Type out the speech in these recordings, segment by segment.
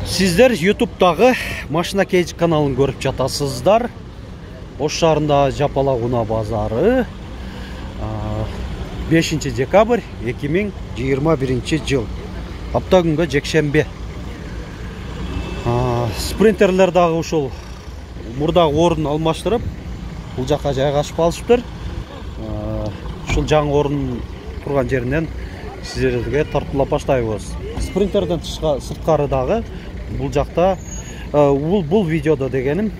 Сиздер YouTube'дагы Машина Кейж каналын көрүп жатасыздар. Ош шаарында Жапалак унаа базары 5 декабрь 2021 жыл. Апта күнгө жекшембе. Спринтерлер дагы ушул мурдагы орун алмаштырып, бул жакка жайгашып алышыптыр. Ушул жаңы орун турган жеринен сиздерге тартуулап баштайбыз. Спринтерден сырткары дагы бул жакта бул видеодо дегеним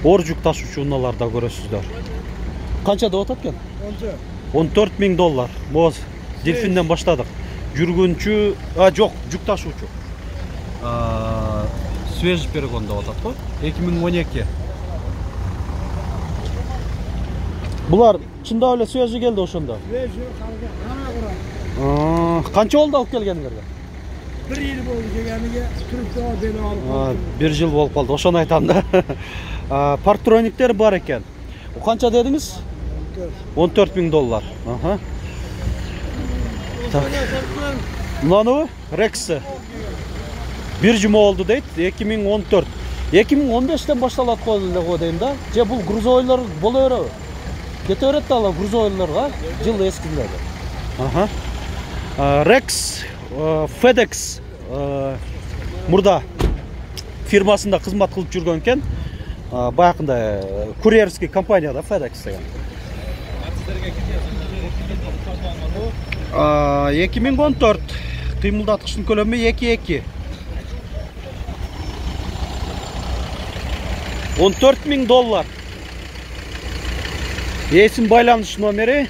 оор жүк ташуучу унааларда көрөсүздөр. Канча деп атат экен? 14 000 доллар. Моз Дельфинден баштадык. Жүргүнчү, жок, жүк ташуучу. Свежий перегон деп атат го. 2012. Булар чындап эле свежий келди ошондо. Свежий Канча болду алып келгениңерге? 1 жыл болду келгениге, түрүктө бели алып. 1 жыл болуп калды, ошону айтам да. Парктрониктер бар экен. Канча дедиңиз? 14 000 доллар. Мынаны Рекс 1 жума болду дейт, 2014. 2015-тен башталат го дейм да. Же бул грузовойлор боло береби? Кете берет да грузовойлорго, жыл эскиндеги. Рекс FedEx мурда фирмасында кызмат кылып жүргөн экен. Баягында курьерский компанияда FedEx деген. 2014 кыймылдаткычтын көлөмү 2.2. 14 000 доллар. Эсим байланыш номери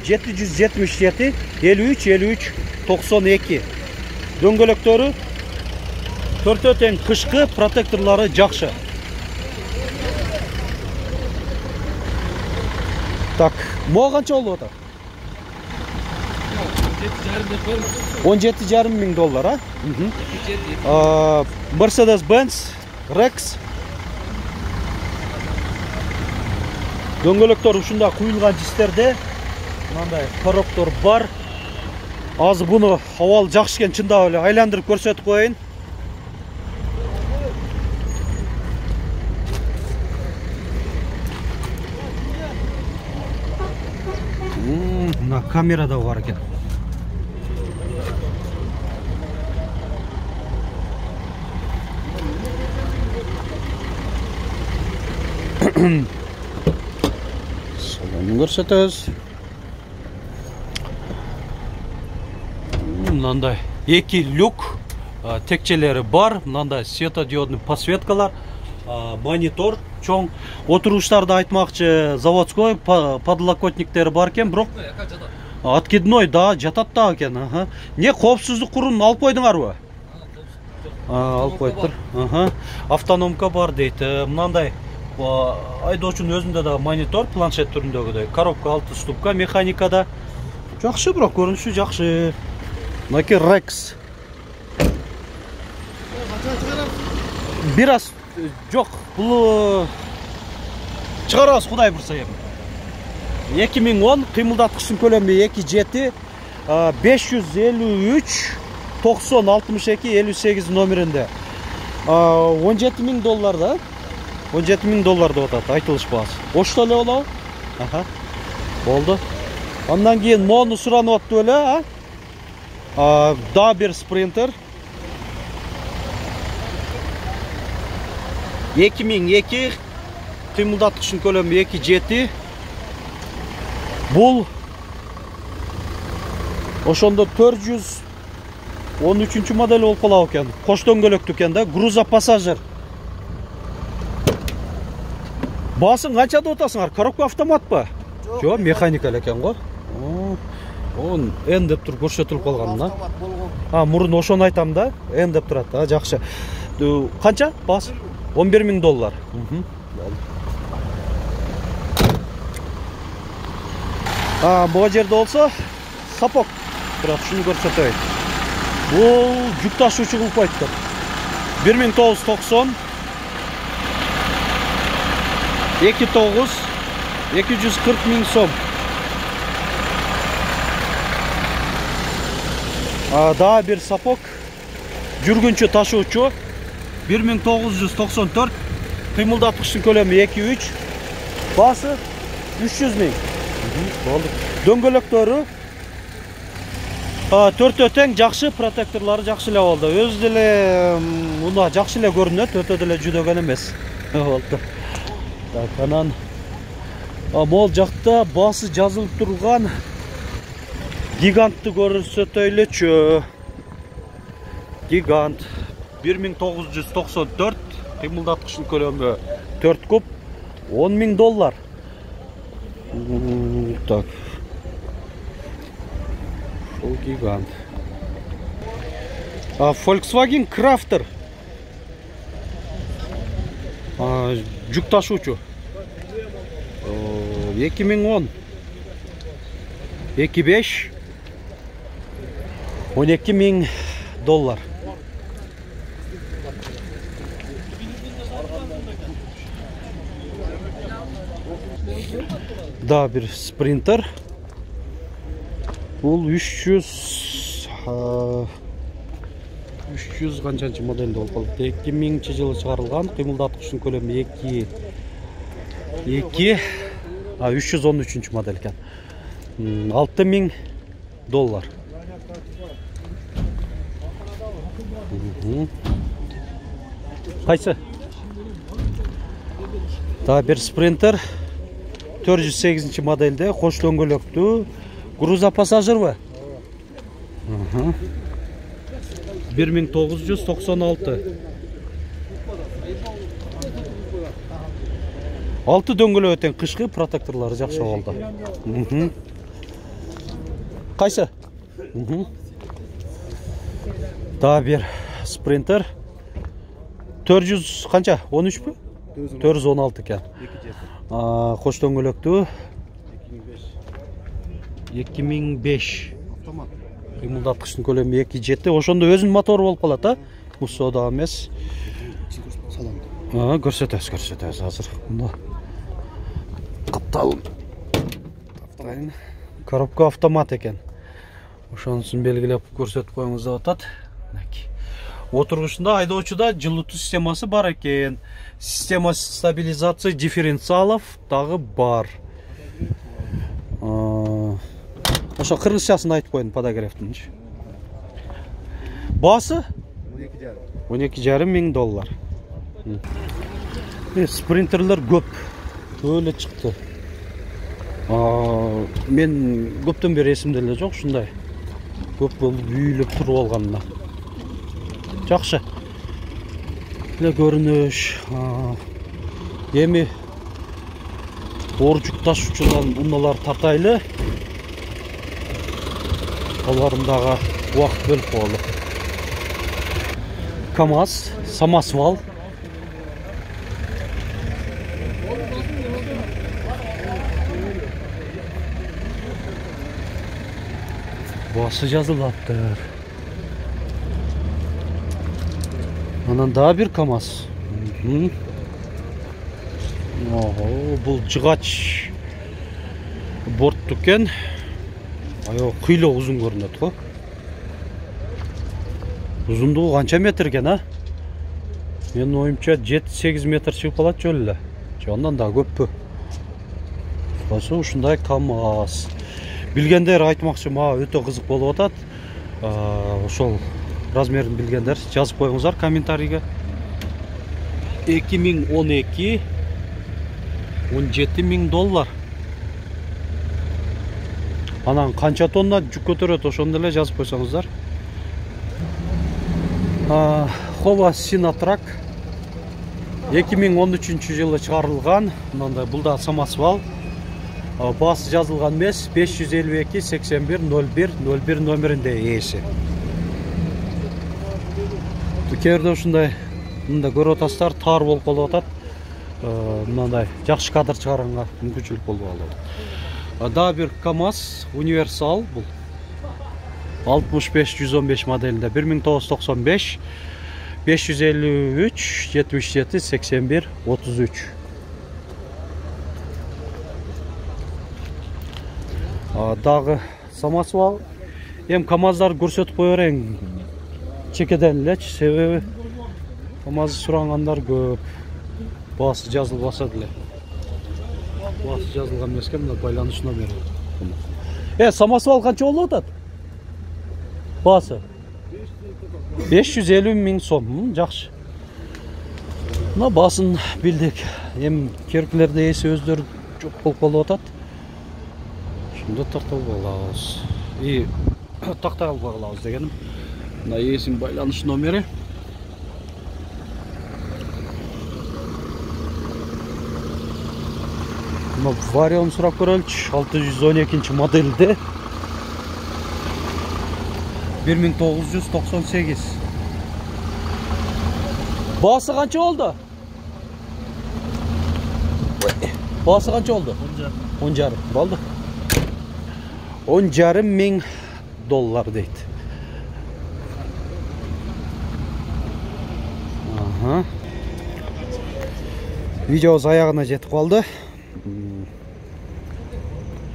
777 53 53 92. Дөңгөлөктөрү төртөө тең, кышкы, протекторлору жакшы. Так, мага канча болуп атат? 17,5 000 доллар, Mercedes-Benz Rex. Дөңгөлөктөр ушунда куюлган жистерде. Мындай короктор бар. Азыр буну абал жакшы экен, чындап эле айландырып көрсөтүп коеюн. Мына камерада бар экен. Салонун көрсөтөбүз. Мындай 2 люк, текчелери бар, мындай светодиодный подсветкалар, монитор, чоң. Отуруштарды айтмакчы, заводской подлокотниктери бар экен, бирок откидной да жатат да экен. Не коопсуздук курун алып койдуңарбы? Алып коюптур. Автономка бар дейт. Мындай айдоочунун өзүндө да монитор, планшет түрүндөгүдөй. Коробка 6 ступка, механикада. Жакшы, бирок көрүнүшү жакшы. Мынаки Рекс. Бир аз жок, бул чыгарабыз, Кудай бурса эми. 2010 кыймылдаткычтын көлөмү 2.7, 553 90 62 58 номеринде. 17 000 доллар да. 17 000 доллар деп атат, айтылыш баасы. Ошто эле болобу? Болду. Андан кийин мону суранып аттып эле, да бир спринтер. 2002 кыймылдаткычтын көлөмү 2.7. Бул ошондо 413 модель болуп калат экен. Кош дөңгөлөктүү экен да, грузопассажир. Баасын канча деп атасыңар? Коробка автоматпы? Жок, механика экен го. Он N деп туруп көрсөтүлүп калган да. Мурун ошону айтам да, N деп турат. Жакшы. Канча баасы? 11 000 доллар. Бул жерде болсо сапок турат, шуну көрсөтөйүн. Бул жүк ташуучу кылып койдук. 1990 2.9 240 000 сом. Да бир сапок жүргүнчү ташуучу 1994, кыймылдаткычтын көлөмү 2-3, баасы 300 000. Болду. Дөңгөлөктөрү 4 тең, жакшы, протекторлору жакшы эле болду. Өзү деле мына жакшы эле көрүнөт, өтө деле жүдөгөн эмес. Болду. Так, анан могул жакта баасы жазылып турган гигантты көрсөтөйлүчү. Гигант 1994, кыймылдаткычтын көлөмү 4 куб, $10 000. Так. Шол гигант. Volkswagen Crafter. Жүк ташуучу. 2010. 2.5. $12 000. Да, bir Sprinter. Бул 300 канчанчы моделде болуп калды? 2000-жылы чыгарылган, кыймылдаткычтын көлөмү 313 модель экен. $6 000. Кайсы? Да, bir Sprinter 408 модельде, кош дөңгөлөктүү, грузопассажирби? 1996. 6 дөңгөлөк тең, кышкы, протекторлору жакшы болду. Кайсы? Да, bir Sprinter 400 канча? 13пү? 416 экен. Кош дөңгөлөктүү 2005. Автомат. Кыймылдаткычтын көлөмү 2.7. Ошондо өзүнүн мотору болуп калат, а? Мусода эмес. Көрсөтөбүз азыр. Мына капталын. Коробка автомат экен. Ошонусун белгилеп көрсөтүп коюңуз деп атат. Отургучунда, айдоочуда жылытуу системасы бар экен. Система стабилизации дифференциалов дагы бар. Ошо кыргызчасын айтып коюн, подогревтинчи. Баасы $12,5 000. Спринтерлер көп эле чыкты. Мен көптөн бери эсимде эле жок ушундай. Көп болуп үйүлүп туруп алганына. Жакшы. Эле көрүнүш. Эми оор жүк ташуучулардан унаалар тартайлы. Алардын дагы убакыт бөлүп коелу. КамАЗ, самосвал. Басы жазылаптыр. Анан дагы бир КамАЗ. Бул жыгач бортту экен. Кыйлоо узун көрүнөт го. Узундугу канча метр экен, а? Менин оюмча 7-8 метр чыгып калат жол эле. Андан да көппү. Басы ушундай КамАЗ. Билгендер айтмакчы, мага өтө кызык болуп атат. Ошол размерин билгендер жазып коюңуздар комментарийге. 2012 $17 000. Анан канча тонна жүк көтөрөт, ошондо эле жазып койсоңуздар. Хова Синатрак 2013-жылы чыгарылган. Мындай бул да самосвал. Баасы жазылган эмес, 552-81-01-01 номеринде ээси. Кээрде ушундай мында көрүп атасыздар, таар болуп калып атат. Мындай жакшы кадр чыгарганга мүмкүнчүлүк болуп алат. Дагы бир КамАЗ универсал бул. 65-115 моделинде 1995 553-77-81-33. Дагы самосвал. Эми КамАЗдар көрсөтүп кое берейин. чекеден элечи, себеби КамАЗды сурагандар көп. Баасы жазылбаса деле. Баасы жазылган эмеске мына байланыш номери. Самосвал канча болуп атат? Баасы 550 000 сом. Жакшы. Мына баасын билдик. Эми керкилерде эси өздөрү жок болуп калып атат. Шунда тактап алабыз. И тактай албай калабыз дегеним. Мына эсин байланыш номери. Мына варион сурап көрөлүчү. 612 моделде. 1998. Баасы канча болду? Баасы канча болду? 10,5 болду. 10,5 миң доллар дейт. Видеобуз аягына жетип калды.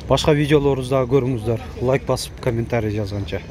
Башка видеолорубузду дагы көрүңүздөр. Лайк басып, комментарий жазганча.